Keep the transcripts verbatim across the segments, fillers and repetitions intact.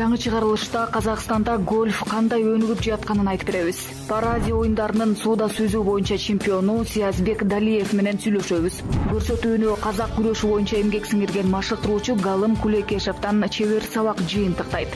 Жаңы чыгарылышта Казакстанда гольф кандай өнүгүп жатканын айтып беребиз. Паразия оюндарынын сууда сүзүү боюнча чемпиону Сиязбек Далиев менен сүйлөшөбүз. Көрсөтүүнү казак күрөшү боюнча эмгек сиңирген машыктыруучу Галым Кулекешевден чебер сабак жыйынтыктайт.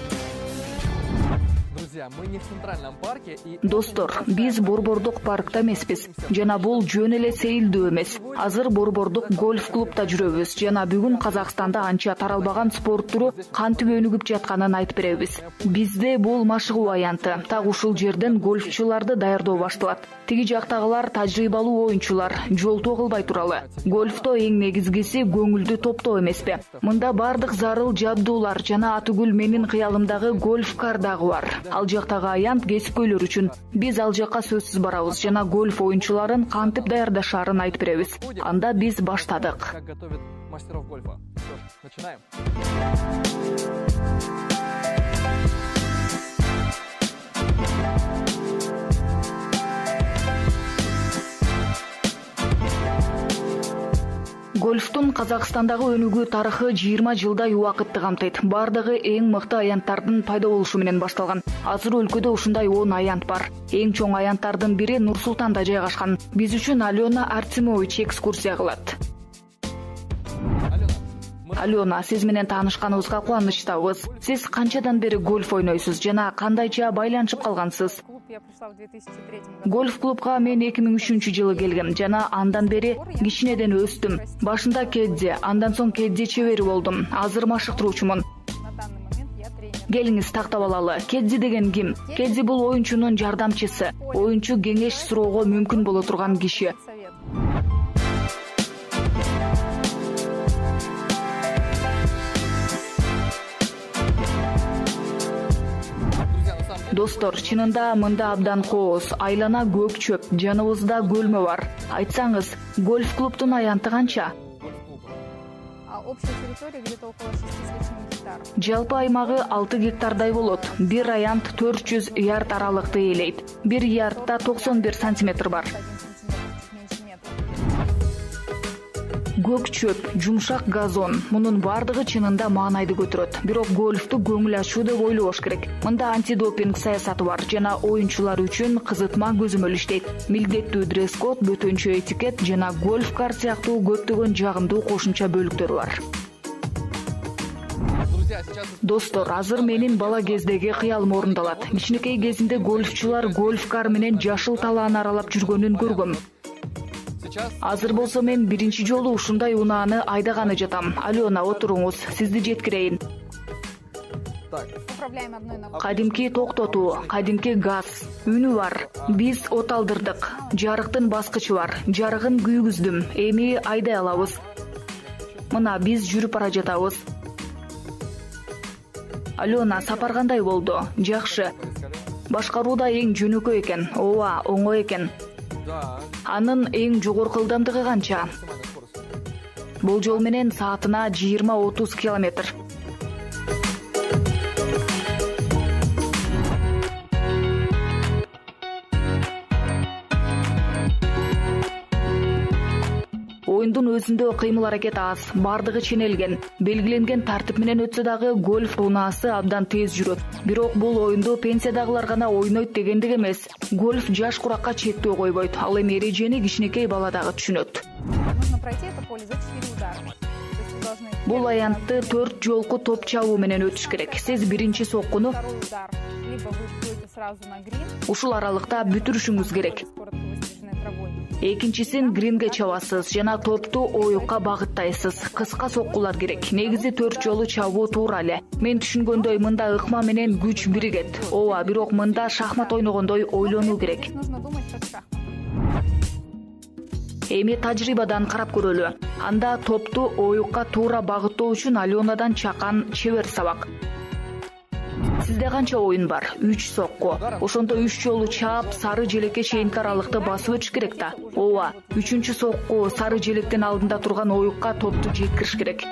Достор, биз Борбордук паркта эмеспиз жана бул жөн эле сейилдөө эмес. Азыр Борбордук гольф клубда жүрөбүз жана бүгүн Казакстанда анча таралбаган спорт түрү кантип өнүгүп жатканын айтып беребиз. Бизде бул машыгуу аянты. Так ушул жерден гольфчуларды даярдоо башталат. Тиги жактагылар тажрыйбалуу оюнчулар, жолтоо кылбай туралы. Гольфто эң негизгиси көңүлдү топтоо эмеспи? Мында бардык зарыл жабдуулар жана атүгүл менин кыялымдагы гольф-кар дагы бар. Ал жактагы аянт кесипкөйлөр үчүн. Биз ал жакка сөзсүз барабыз жана гольф оюнчуларын кантип даярдашаарын айтып беребиз. Анда биз баштадык. Гольфтун Казакстандагы өнүгүү тарыхы жыйырма жылдай убакытты камтыйт. Бардыгы эң мыкты аянттардын пайда болушу менен башталган. Азыр өлкөдө ушундай он аянт бар. Эң чоң аянттардын бири Нур Султанда жайгашкан. Биз үчүн Алена Артемович экскурсия кылат. Алена, сиз менен таанышканыбызга кубанычтабыз. Сиз канчадан бери гольф ойнойсуз жана кандайча байланышып калгансыз? Гольф клубга мен эки миң үчүнчү жылы келгем жана андан бери кичинеден өстүм. Башында кедди, андан соң кедди чебери болдум. Азыр машыктыруучумун. Келиңиз тактап алалы. Кедди деген ким? Кедди бул оюнчунун жардамчысы. Оюнчу кеңеш суроого мүмкүн боло турган киши. Достор, чынында мында абдан кооз, айлана көк чөп, жаныбызда көлмө бар. Айтсаңыз, гольф клубтун аянты канча? Жалпы аймагы алты гектардай болот. Бир аянт төрт жүз ярд аралыкты ээлейт. Бир ярдда токсон бир сантиметр бар. Көк чөп, жумшак газон. Мунун бардыгы чынында маанайды көтөрөт. Бирок гольфту көңүл ачуу деп ойлош керек. Мында антидопинг саясаты бар жана оюнчулар үчүн кызытма көзөмөл иштейт. Милдеттүү дресс-код, бөтөнчө этикет жана гольф-кар сыяктуу көптөгөн жагымдуу кошумча бөлүктөр бар. Достор, азыр менин бала кездеги кыялым орундалат. Кичинекей кезинде гольфчулар гольф-кар менен жашыл талааны аралап жүргөнүн көргөм. Азыр болсо мен биринчи жолу ушундай унааны айдаганы жатам. Алена, отуруңуз, сизди жеткирейин. Кадимки токтотуу, кадимки газ, үнү бар. Биз от алдырдык. Жарыктын баскычы бар. Жарыгын күйгүздүм. Эми айдай алабыз. Мына биз жүрүп бара жатабыз. Алена, сапар кандай болду? Жакшы. Башкаруу да эң жөнөкөй экен. Ооба, оңой экен. Анын эң жогорку ылдамдыгы канча? Болжол менен саатына жыйырма отуз километр. Оюндун өзүндө кыймыл аракет аз, бардыгы ченелген. Белгиленген тартип менен өтсө дагы гольф унаасы абдан тез жүрөт. Бирок бул оюнду пенсиядагылар гана ойнойт дегендик эмес. Гольф жаш куракка чектөө койбойт. Ал эми эрежени кичинекей бала дагы түшүнөт. Бул аянтты төрт жолку топ чабуу менен өтүш керек. Сиз биринчи соккуну ушул аралыкта бүтүрүшүңүз керек. Экинчисин гринге чабасыз жана топту оюкка багыттайсыз. Кыска соккулар керек. Негизи төрт жолу чабуу туура эле. Мен түшүнгөндөй мында ыкма менен күч биригет. Ооба, бирок мында шахмат ойногондой ойлонуу керек. Эми тажрыйбадан карап көрөлү. Анда топту оюкка туура багыттоо үчүн Аленадан чакан чебер сабак. Сизде канча оюн бар? үч сокку. Ошондо үч жолу чаап, сары желекке чейинки аралыкты басып өтүш керек да. Ооба, үчүнчү сокку сары желектен алдында турган оюкка топту жеткириш керек.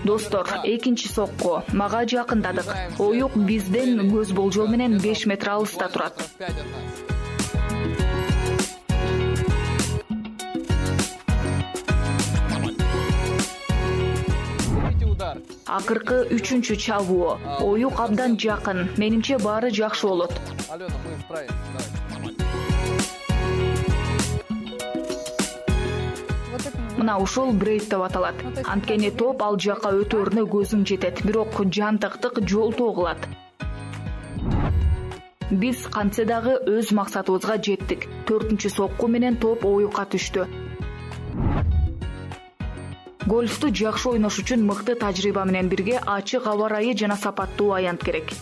Достор, экинчи сокку мага жакындадык. Оюк бизден көз болжол менен беш метр алыста турат. Акыркы үчүнчү чабуу. Оюк абдан жакын. Менимче баары жакшы болот. Мына ушул брейд деп аталат. Анткени топ ал жакка өтөрүнө көзүң жетет, бирок жантыктык жолтоо кылат. Биз кантсе дагы өз максатыбызга жеттик. Төртүнчү сокку менен топ оюкка түштү. Гольфту жакшы ойнош үчүн мыкты тажрыйба менен бирге ачык аба ырайы жана сапаттуу аянт керек.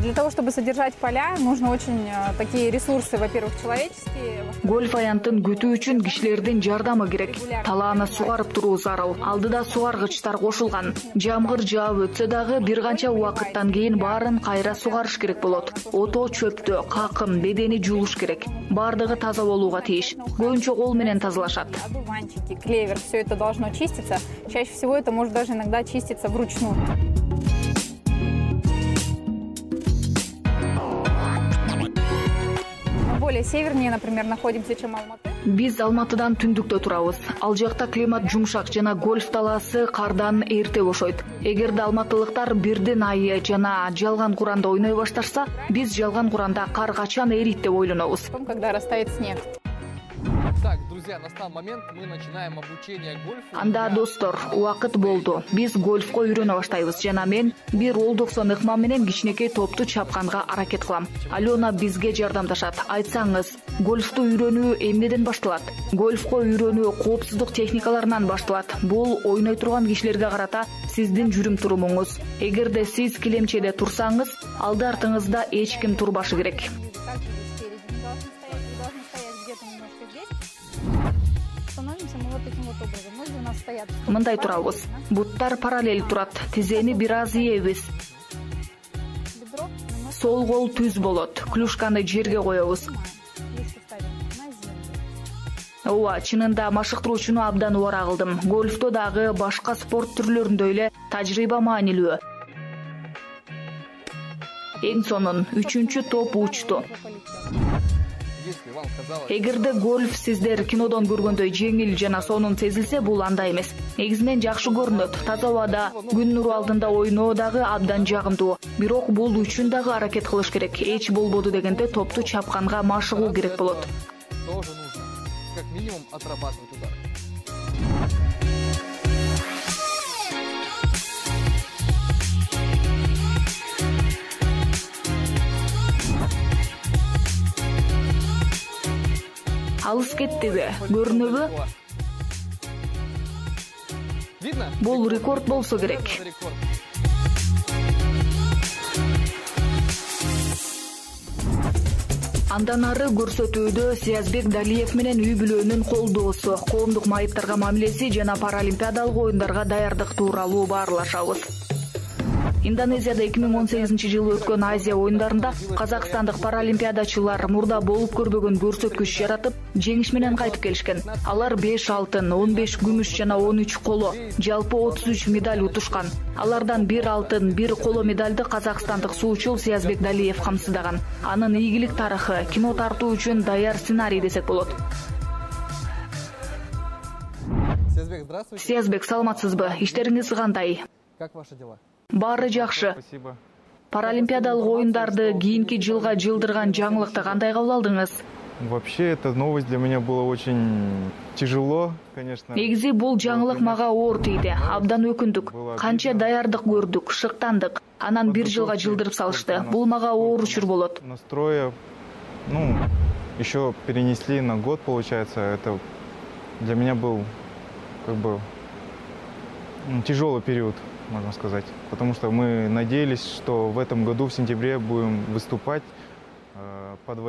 Для того, чтобы содержать поля, нужно очень такие ресурсы, во-первых, человеческие. Гольф аянтын күтүү үчүн кишилердин жардамы керек. Талааны сугарып туруу зарыл. Алдыда сугаргычтар кошулган. Жамгыр жаап өтсө дагы бир канча убакыттан кийин баарын кайра сугарыш керек болот. Ото, чөптү, какым, бедени жуулуш керек. Бардыгы таза болууга тийиш. Көбүнчө кол менен тазалашат. Одуванчики, клевер, все это должно чиститься. Чаще всего это может даже иногда чиститься вручную. Более севернее, например, находимся, чем Алматы. Биз Алматыдан түндүктө турабыз. Ал жакта климат жумшак жана гольф талаасы кардан эрте бошойт. Эгерде алматылыктар бирдин айы жана жалган куранда ойной башташса, биз жалган куранда кар качан эрийт деп ойлонобуз. Когда растает снег. Так, друзья, настал момент, мы начинаем обучение гольфу. Анда достор, убакыт болду. Биз гольфко үйрөнө баштайбыз жана мен бир ол токсон ыкма менен кичинекей топту чапканга аракет кылам. Алена бизге жардамдашат. Айтсаңыз, гольфту үйрөнүү эмнеден башталат? Гольфко үйрөнүү коопсуздук техникаларынан башталат. Бул ойной турган кишилерге карата сиздин жүрүм турумуңуз. Эгерде сиз килемчеде турсаңыз, алды артыңызда эч ким турбашы керек. Мындай турабыз. Буттар параллель турат. Тизени бир аз ийебиз. Сол кол түз болот. Клюшканы жерге коебуз. Ооба, чынында машыктыруучуну абдан убара кылдым. Гольфто дагы башка спорт түрлөрүндө эле тажрыйба маанилүү. Эң сонун үчүнчү топ учту. Эгерде гольф сиздер кинодон көргөндөй жеңил жана сонун сезилсе, бул андай эмес. Негизинен жакшы көрүнөт. Таза абада, күн нуру алдында ойноо дагы абдан жагымдуу. Бирок бул үчүн дагы аракет кылыш керек. Эч болбоду дегенде топту чапканга машыгуу керек болот. Тоже нужно, как минимум, отрабатывать удар. Алыс кеттиби? Көрүнөбү? Бул рекорд болсо керек. Андан ары көрсөтүүдө Сиязбек Далиев менен үй бүлөнүн колдоосу, коомдук майыптарга мамилеси жана паралимпиадалык оюндарга даярдык тууралуу баарлашабыз. Индонезияда эки миң он сегизинчи жылы өткөн Азия оюндарында казакстандык паралимпиадачылар мурда болуп көрбөгөн көрсөткүч жаратып, жеңиш менен кайтып келишкен. Алар беш алтын, он беш күмүш жана он үч коло, жалпы отуз үч медаль утушкан. Алардан бир алтын, бир коло медальды казакстандык суучул Сиязбек Далиев камсыздаган. Анын ийгилик тарыхы кино тартуу үчүн даяр сценарий десек болот. Сиязбек, здравствуйте. Сиязбек, саламатсызбы? Иштериңиз кандай? Как ваши дела? Баары жакшы. Спасибо. Паралимпиадалык оюндарды кийинки жылга жылдырган жаңылыкты кандай кабыл алдыңыз? Вообще, эта новость для меня была очень тяжело, конечно. Негизи бул жаңылык мага оор тийди. Абдан өкүндүк. Канча даярдык көрдүк, шыктандык. Анан бир жылга жылдырып салышты. Бул мага оор учур болот. Настроя, ну, еще перенесли на год, получается. Это для меня был, как бы, тяжелый период, можно сказать. Потому что мы надеялись, что в этом году, в сентябре, будем выступать.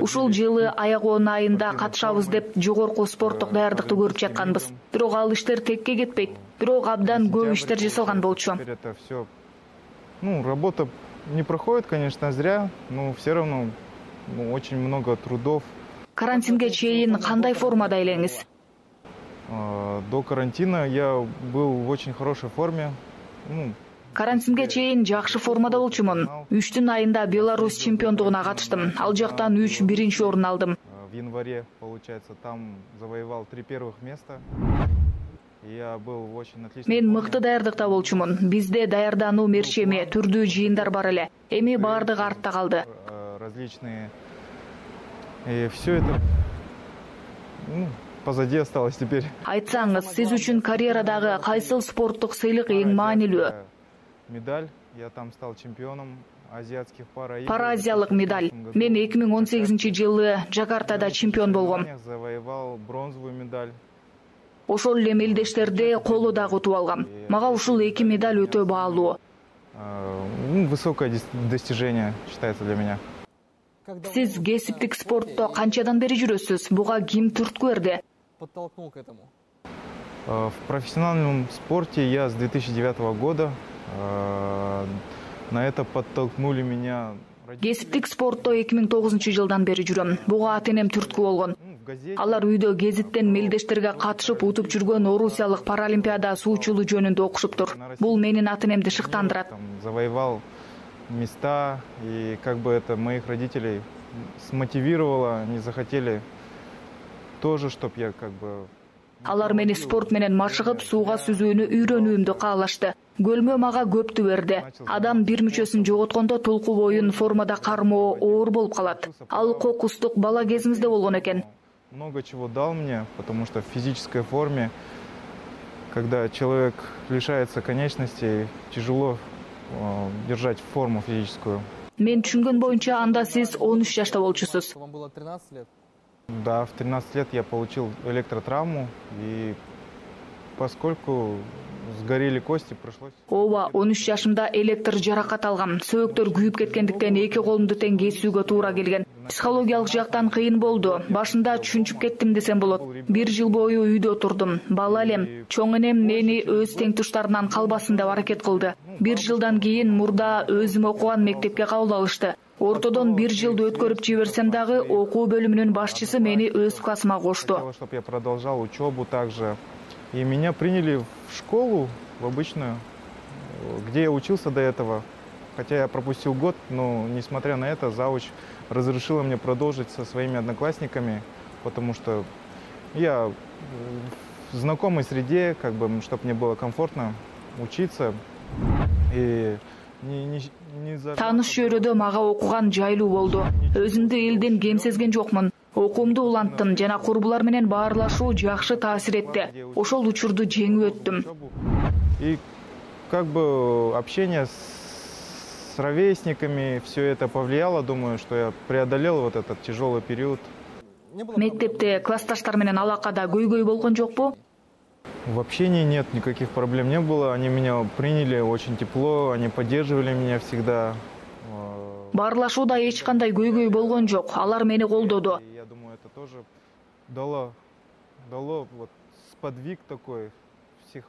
Ушул жылы аягоон айында катышабыз деп жогорку спорттук даярдыкты көрүп жатканбыз. Бирок ал иштер текке кетпейт. Бирок абдан көп иштер жасалган болчу. Это все, ну, работа не проходит, конечно, зря, но все равно ну, очень много трудов. Карантинге чейин кандай формада элеңиз? До карантина я был в очень хорошей форме. Ну, Карантинге чейин жакшы формада болчумун. үчтүн айында Беларусь чемпиондугуна катыштым. Ал жактан үч биринчи орун алдым. В январе, получается, там завоевал три первых места. Я был очень отлично. Мен мыкты даярдыкта болчумун. Бизде даярдануу мерчеми, түрдүү жыйындар бар эле. Эми баардыгы артта калды. Различные. И все это ну, позади осталось теперь. Айтсаңыз, сиз үчүн карьерадагы кайсыл спорттук сыйлык эң маанилүү? Медаль. Я там стал чемпионом азиатских пара. Параазиялык медаль. Мен эки миң он сегизинчи жылы Жакартада чемпион болгом. Завоевал бронзовую медаль. Ошол эле мелдештерди коло дагы утуп алгам. Мага ушул эки медаль өтө баалуу. Высокое достижение считается для меня. Сиз кесиптик спортто канчадан бери жүрөсүз? Буга ким түрткү берди? Подтолкнул к этому. В профессиональном спорте я с две тысячи девятого года. На это подтолкнули меня. Кесиптик спортто эки миң тогузунчу жылдан бери жүрөм. Буга ата-энем түрткү болгон. Алар үйдө гезиттен мелдештерге катышып утуп жүргөн орусиялык паралимпиада суучулу жөнүндө окушуптур. Бул менин ата-энемди шыктандырат. Завоевал места, и как бы это моих родителей смотивировало, они захотели тоже, чтоб я как бы. Алар мени спорт менен машыгып, сууга сүзүүнү үйрөнүүмдү каалашты. Көлмө мага көптү берди. Адам бир мүчөсүн жоготкондо толку боюн формада кармоо оор болуп калат. Ал кокустук бала кезимизде болгон экен. Много чего дал мне, потому что в физической форме, когда человек лишается конечностей, тяжело э, держать форму физическую. Мен түшүнгөн боюнча анда сиз он үч жашта болчусуз. Вам было тринадцать лет? Да, в тринадцать лет я получил электротравму, и поскольку сгорели кости, пришлось. Ооба, он үч жашымда электр жаракат алгам. Сөөктөр күйүп кеткендиктен эки колумду тең кесүүгө туура келген. Психологиялык жактан кыйын болду. Башында түшүнчүп кеттим десем болот. Бир жыл бою үйдө турдум. Бала элем. Чоң энем мени өз теңтуштарынан калбасын деп аракет кылды. Бир жылдан кийин мурда өзүм окуган мектепке кабыл алышты. Ортодон бир жылды өткөрүп жиберсем дагы окуу бөлүмүнүн башчысы мени өз классыма кошту. Чтобы я продолжал учебу также. И меня приняли в школу, в обычную, где я учился до этого. Хотя я пропустил год, но несмотря на это, завуч разрешила мне продолжить со своими одноклассниками, потому что я в знакомой среде, как бы, чтобы мне было комфортно учиться. И не, не, не за... Тааныш чөйрөдө мага окуган жайлуу болду. Өзүмдү элден кем сезген жокмун. Окуумду уланттым жана курбулар менен баарлашуу жакшы таасир этти. Ошол учурду жеңип өттүм. И как бы общение с ровесниками, все это повлияло, думаю, что я преодолел вот этот тяжелый период. Мектепте классташтар менен алакада көйгөй болгон жокпу? В общении нет, никаких проблем не было. Они меня приняли очень тепло, они поддерживали меня всегда. Баарлашууда эч кандай көйгөй болгон жок. Алар мени колдоду. Я думаю, это тоже дало, дало вот сподвиг такой.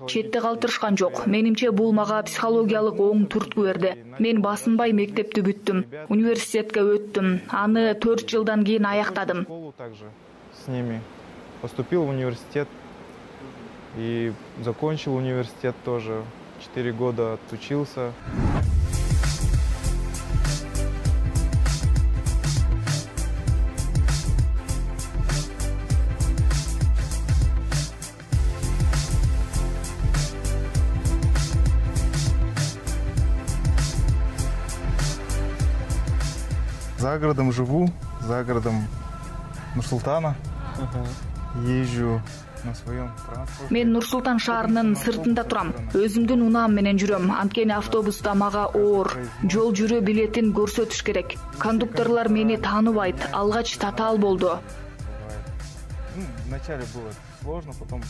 Четте калтырышкан жок. Менимче бул мага психологиялык оң түрткү берди. Мен басынбай мектепти бүттүм. Университетке өттүм. Аны төрт жылдан кийин аяктадым. Также с ними поступил в университет и закончил университет тоже. Четыре года отучился. За городом живу, за городом Нур-Султана. Езжу на своем транспорте. Мен Нур-Султан шаарынын сыртында турам. Өзүмдүн унаам менен жүрөм. Анткени автобуста мага оор. Жол жүрүү билетин көрсөтүш керек. Кондукторлор мени тааныбайт. Алгач татаал болду. Ну, вначале было сложно, потом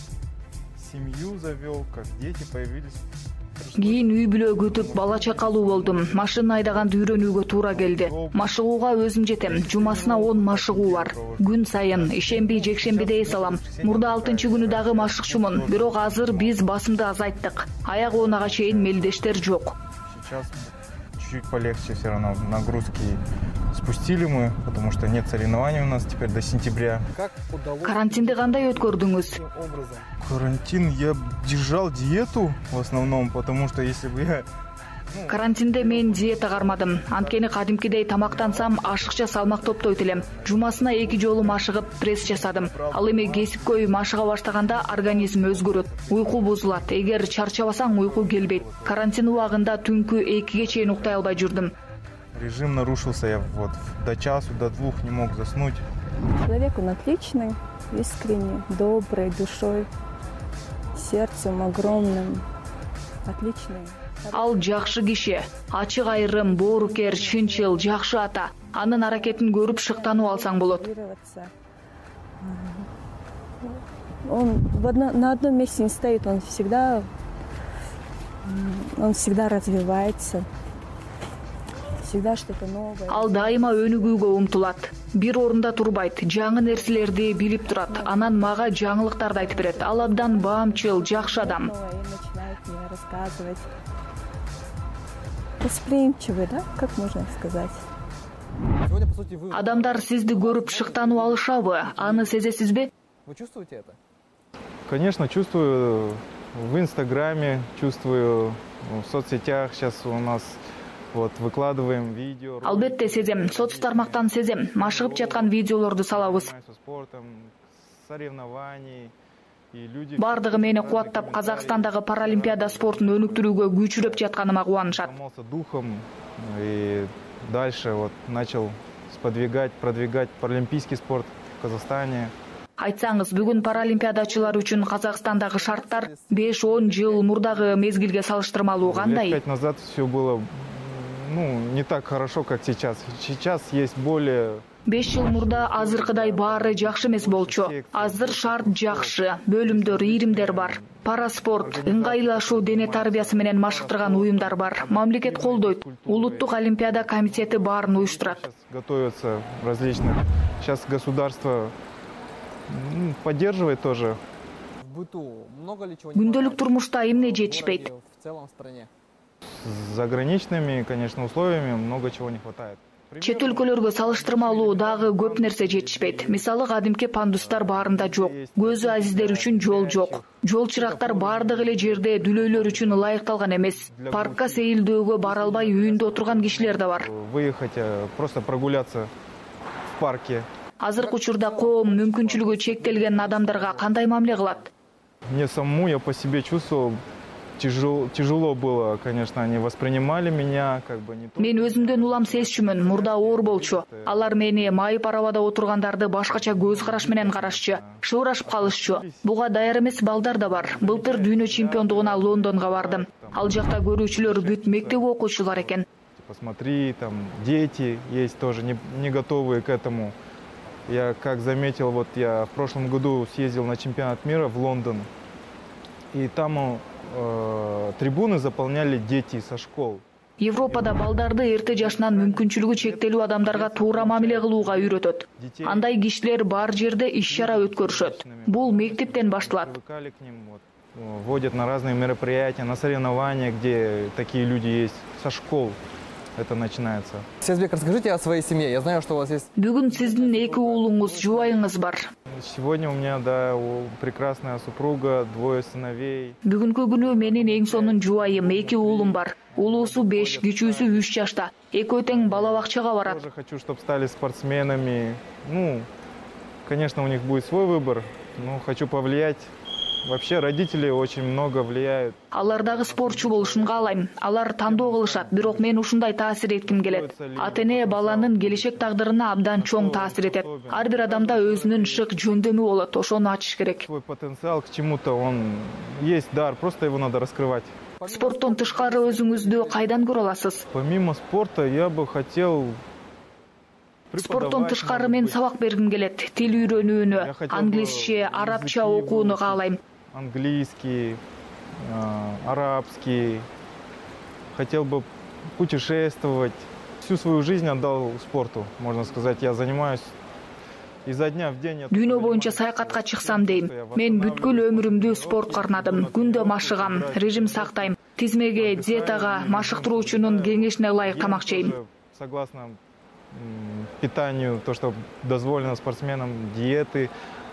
семью завел, как дети появились. Кийин үй бүлө күтүп бала чакалуу болдум. Машина айдаганды үйрөнүүгө туура келди. Машыгууга өзүм жетем. Жумасына он машыгуу бар. Күн сайын ишемби, жекшембиде эс алам. Мурда алтынчы күнү дагы машыкчумун. Бирок азыр биз басымды азайттык. Аяк оонага чейин мелдештер жок. Сейчас чуть-чуть полегче, все равно нагрузки спустили мы, потому что нет соревнований у нас теперь до сентября. Как удалось? Карантинди кандай өткөрдүңүз? Карантин я держал диету в основном, потому что если бы я Карантинде мен диета кармадым. Анткени кадимкидей тамактансам ашыкча салмак топтойт элем. Жумасына эки жолу машыгып пресс жасадым. Ал эми кесипкөй машыга баштаганда организм өзгөрөт. Уйку бузулат. Эгер чарчабасаң уйку келбейт. Карантин убагында түнкү экиге чейин уктай албай жүрдүм. Режим нарушился, я вот до часу, до двух не мог заснуть. Человек он отличный, искренний, добрый, душой, сердцем огромным, отличный. Ал жакшы киши, ачык айрым, боорукер, чынчыл, жакшы ата. Анын аракетин көрүп шыктанып алсаң болот. Он в одно, на одном месте не стоит, он всегда, он всегда развивается. Всегда что-то новое. Ал дайыма өнүгүүгө умтулат. Бир орунда турбайт, жаңы нерселерди билип турат. Анан мага жаңылыктарды айтып берет. Ал абдан баамчыл, жакшы адам. Начинает мне рассказывать. Восприимчивый, да? Как можно сказать? Сегодня, по сути, вы... Адамдар сизди көрүп шыктанып алышабы? Аны сезесизби? Вы чувствуете это? Конечно, чувствую в Инстаграме, чувствую в соцсетях. Сейчас у нас вот выкладываем видео. Албетте сезем, соц тармактан сезем. Машыгып жаткан видеолорду салабыз. Спортом, соревнований. Бардыгы мени кубаттап, Казакстандагы паралимпиада спортун өнүктүрүүгө күчүрөп жатканыма кубанышат. Духом и дальше вот начал сподвигать, продвигать паралимпийский спорт в Казахстане. Айтсаңыз, бүгүн паралимпиадачылар үчүн Казакстандагы шарттар беш-он жыл мурдагы мезгилге салыштырмалуу кандай? Лет пять назад все было, ну, не так хорошо, как сейчас. Сейчас есть более... беш жыл мурда азыркыдай баары жакшы эмес болчу. Азыр шарт жакшы, бөлүмдөр, иримдер бар. Параспорт, ыңгайлашуу дене тарбиясы менен машыктырган уюмдар бар. Мамлекет колдойт. Улуттук олимпиада комитети баарын уюштурат. Готовятся различных. Сейчас государство поддерживает тоже. В быту много ли чего? Күндөлүк турмушта эмне жетишпейт? В целом в стране. С заграничными, конечно, условиями много чего не хватает. Чет өлкөлөргө салыштырмалуу дагы көп нерсе жетишпейт. Мисалы, кадимки пандустар баарында жок. Көзү азиздер үчүн жол жок. Жол чырактар баардык эле жерде дүлөйлөр үчүн ылайыкталган эмес. Паркка сейилдөөгө бара албай үйүндө отурган кишилер да бар. Выехать, просто прогуляться в парке. Азыркы учурда коом мүмкүнчүлүгү чектелген адамдарга кандай мамиле кылат? Мне самому, я по себе чувствовал, Тяжело, тяжело было, конечно, они воспринимали меня, как бы не то. Мен өзүмдөн улам сезчүмүн, мурда оор болчу. Алар мени майып арабада отургандарды башкача көз караш менен карашчу, шыбырашып калышчу. Буга даяр эмес балдар да бар. Былтыр дүйнө чемпиондугуна Лондонго бардым. Ал жакта көрүүчүлөр бүт мектеп окуучулар экен. Посмотри, там дети есть тоже не, не готовые к этому. Я как заметил, вот я в прошлом году съездил на чемпионат мира в Лондон, и там э, трибуны заполняли дети со школ. Европада балдарды эрте жашынан мүмкүнчүлүгү чектелүү адамдарга туура мамиле кылууга үйрөтөт. Андай кишилер бар жерде иш-чара өткөрүшөт. Бул мектептен башталат. Водят на разные мероприятия, на соревнования, где такие люди есть, со школ. Это начинается. Сезбек, расскажите о своей семье. Я знаю, что у вас есть... Бүгүн сиздин эки уулуңуз, жубайыңыз бар. Сегодня у меня, да, прекрасная супруга, двое сыновей. Бүгүнкү күнү менин эң сонун жубайым, эки уулум бар. Улуусу беш, кичүүсү үч жашта. Экөө тең бала бакчага барат. Я тоже хочу, чтобы стали спортсменами. Ну, конечно, у них будет свой выбор, но хочу повлиять. Вообще родители очень много влияют. Алар дагы спортчу болушун каалайм. Алар тандоо кылышат, бирок мен ушундай таасир этким келет. Ата-эне баланын келечек тагдырына абдан чоң таасир этет. Ар бир адамда өзүнүн шык жөндөмү болот, ошону ачыш керек. Свой потенциал к чему-то, он есть дар, просто его надо раскрывать. Спорттон тышкары өзүңүздү кайдан көрө аласыз? Помимо спорта я бы хотел... Спорттон тышкары мен сабак бергим келет. Тил үйрөнүүнү, англисче, арабча окууну каалайм. Английский, арабский. Хотел бы путешествовать. Всю свою жизнь отдал спорту, можно сказать. Я занимаюсь изо дня в день. Дүйнө боюнча саякатка чыксам дейм. Мен бүткүл өмүрүмдү спортко арнадым. Күндө машыгам, режим сактайм. Тизмеге, диетага, машыктыруучунун кеңешине ылайык тамак жейм. Согласно питанию, то, что дозволено спортсменам, диеты,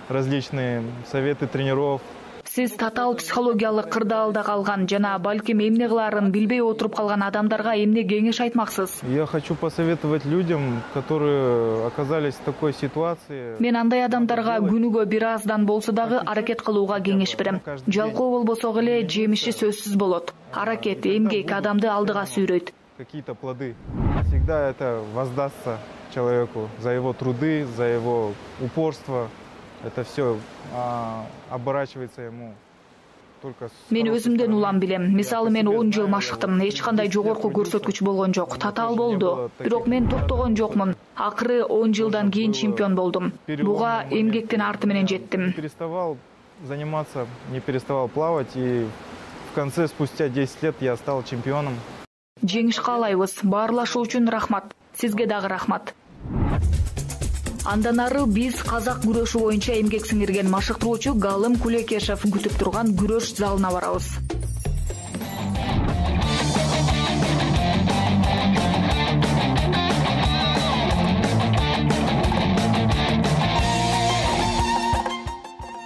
различные советы тренеров. Сиз татаал психологиялык кырдаалда калган жана балким эмне кылаарын билбей отуруп калган адамдарга эмне кеңеш айтмаксыз? Я хочу посоветовать людям, которые оказались в такой ситуации. Мен андай адамдарга күнүгө бир аздан болсо дагы аракет кылууга кеңеш берем. Жалкоо болбосо эле жемиши сөзсүз болот. Аракет, эмгек адамды алдыга сүйрөйт. Какие-то плоды. Всегда это воздастся человеку за его труды, за его упорство. Это все а, оборачивается ему. Мен өзүмдөн улам билем. Мисалы мен он жыл машыктым. Эч кандай жогорку көрсөткүч болгон жок. Татаал болду. Бирок мен токтогон жокмун. Акыры он жылдан кийин чемпион болдум. Буга эмгектин арты менен жеттим. Переставал заниматься, не переставал плавать, и в конце, спустя десять лет, я стал чемпионом. Жеңиш каалайбыз. Баарлашуу үчүн рахмат. Сизге дагы рахмат. Андан ары биз казак күрөшү боюнча эмгек сиңирген машыктыруучу Галым Кулекешев күтүп турган күрөш залына барабыз.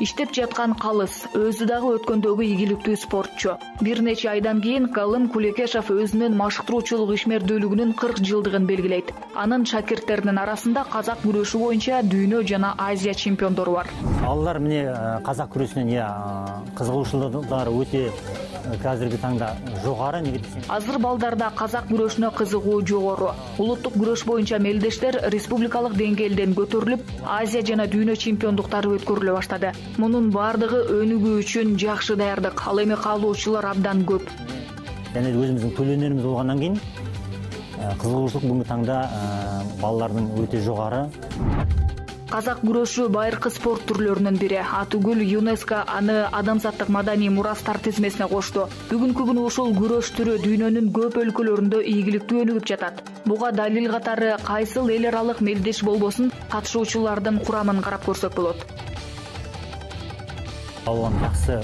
Иштеп жаткан калыс, өзү дагы өткөндөгү ийгиликтүү спортчу. Бир нече айдан кийин Галым Кулекешев өзүнүн машыктыруучулук ишмердүүлүгүнүн кырк жылдыгын белгилейт. Анын шакирттеринин арасында казак күрөшү боюнча дүйнө жана Азия чемпиондору бар. Алар эмне казак күрөшүнө я кызыгуучулары өтө азыркы таңда жогору, неге десем. Азыр балдарда казак күрөшүнө кызыгуу жогору. Улуттук күрөш боюнча мелдештер республикалык деңгээлден көтөрүлүп, Азия жана дүйнө чемпиондуктары өткөрүлө баштады. Мунун бардыгы өнүгүү үчүн жакшы даярдык. Ал эми каалоочулар абдан көп. Жана өзүбүздүн төлөөнөрүбүз болгондон кийин кызыгуучулук бүгүнкү таңда балдардын өтө жогору. Казак күрөшү байыркы спорт түрлөрүнүн бири. Атүгүл ЮНЕСКО аны адамзаттык маданий мурастар тизмесине кошту. Бүгүнкү күнү ушул күрөш түрү дүйнөнүн көп өлкөлөрүндө ийгиликтүү өнүгүп жатат. Буга далил катары кайсыл эл аралык мелдеш болбосун катышуучулардын курамын карап көрсөк болот. Алган жакшы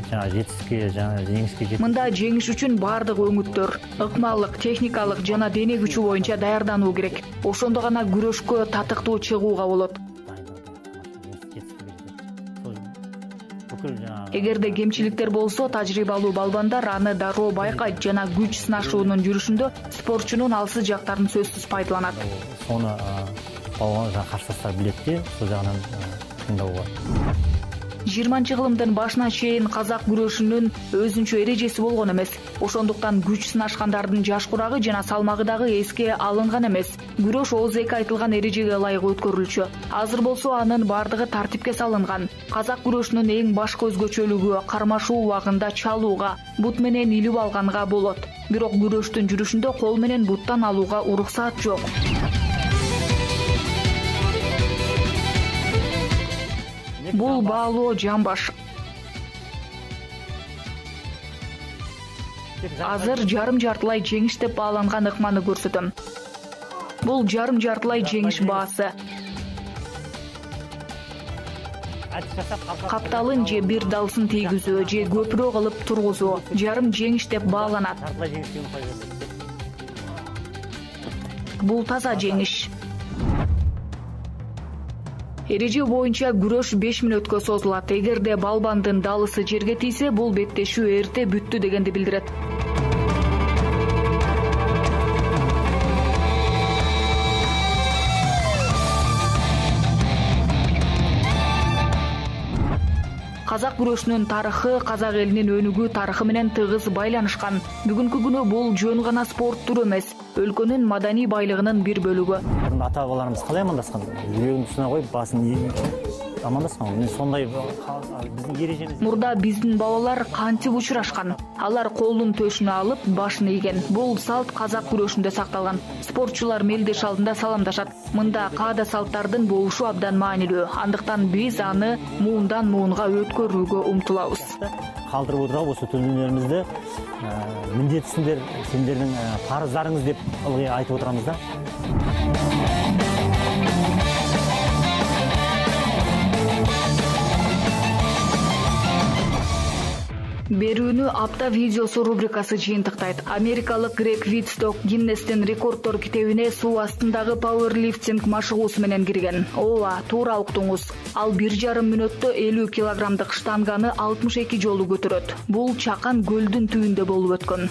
жана жетишке жана жеңишке жетти. Мында жеңиш үчүн бардык өңүттөр, ыкмалык, техникалык жана дене күчү боюнча даярдануу керек. Ошондо гана күрөшкө татыктуу чыгууга болот. Эгерде кемчиликтер болсо, тажрыйбалуу балбандар аны дароо байкайт жана күч сынашуунун жүрүшүндө спортчунун алсыз жактарын сөзсүз пайдаланат. Сону балбан жана карсылаштар билет де, сол жагынан кыйындоо болот. жыйырманчы кылымдын башынан чейин казак күрөшүнүн өзүнчө эрежеси болгон эмес. Ошондуктан күч сынашкандардын жаш курагы жана салмагы дагы эске алынган эмес. Күрөш ооз эки айтылган эрежеге ылайык өткөрүлчү. Азыр болсо анын бардыгы тартипке салынган. Казак күрөшүнүн эң башкы өзгөчөлүгү кармашуу убагында чалууга, бут менен илип алганга болот. Бирок күрөштүн жүрүшүндө кол менен буттан алууга уруксаат жок. Бул баалоо жамбаш. Азыр жарым жартылай жеңиш деп бааланган ыкманы көрсөтөм. Бул жарым жартылай жеңиш баасы. Капталын же бир далсын тийгизүү же көпүрө кылып тургузуу жарым жеңиш деп бааланат. Бул таза жеңиш. Эреже боюнча күрөш беш мүнөткө созулат. Эгерде балбандын далысы жерге тийсе, бул беттешүү эрте бүттү дегенди билдирет. Казак күрөшүнүн тарыхы казак элинин өнүгүү тарыхы менен тыгыз байланышкан. Бүгүнкү күнү бул жөн гана спорт түрү эмес, өлкөнүн маданий байлыгынын бир бөлүгү. Ата бабаларыбыз калай амандашкан? Жүрөгүн тусуна коюп, басын амандашкан. Мен сондай биздин эрежебиз. Мурда биздин бабалар кантип учурашкан? Алар колун төшүнө алып, башын ийген. Бул салт казак күрөшүндө сакталган. Спортчулар мелдеш алдында саламдашат. Мында каада салттардын болушу абдан маанилүү. Андыктан биз аны муундан муунга өткөрүүгө умтулабыз. Калтырып отурабы ошо төлөөнөрүбүздү милдетсиндер, сендердин парыздарыңыз деп ылгый айтып отурабыз да. Берүүнү апта видеосу рубрикасы жыйынтыктайт. Америкалык Грег Витсток Гиннестин рекорддор китебине суу астындагы пауэрлифтинг машыгуусу менен кирген. Ооба, туура уктуңуз. Ал бир жарым мүнөттө элүү килограммдык штанганы алтымыш эки жолу көтөрөт. Бул чакан көлдүн түбүндө болуп өткөн.